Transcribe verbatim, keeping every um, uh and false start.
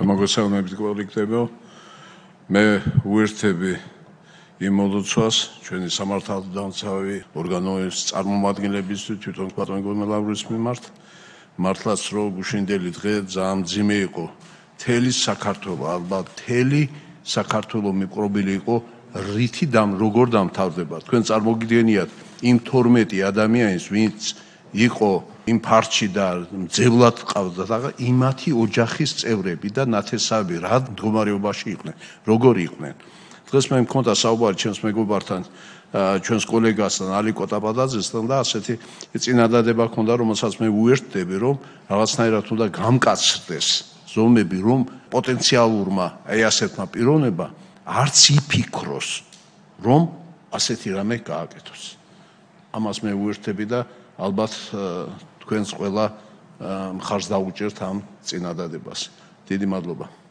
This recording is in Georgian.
მოგესალმებით კოლექტივო. მე უერთები იმ მოლოცვას ჩვენი სამართალდამცავი ორგანოების წარმომადგენლებისთვის თვითონ პატრონი ლავრის მიმართ მართლაც რო გუშინდელი დღე ძალიან მძიმე იყო მთელი საქართველო ალბათ მთელი საქართველო მიპყრობილი იყო რითი დამ როგორ დამთავრდება თქვენ წარმოგიდგენიათ იმ თორმეტი ადამიანის ვინც იყო იმ ფარჩი და მძევლად ყავდა და იმათი ოჯახის წევრები და ნათესავები რა მდგომარეობაში იყვნენ როგორი იყვნენ დღეს მე მქონდა საუბარი ჩვენს მეგობართან ჩვენს კოლეგასთან ალიკო ტაბადაძესთან და ასეთი წინადადება ჰქონდა რომელსაც მე უერთდები რომ რაღაცნაირად უნდა გამკაცრდეს ზომები რომ პოტენციალურმა აი ასეთმა პიროვნებმა არც იფიქროს რომ ასეთი რამე გააკეთოს ამას მე უერთდები და ალბათ თქვენს ყველა მხარს დაუჭერთ ამ წინადადებას დიდი მადლობა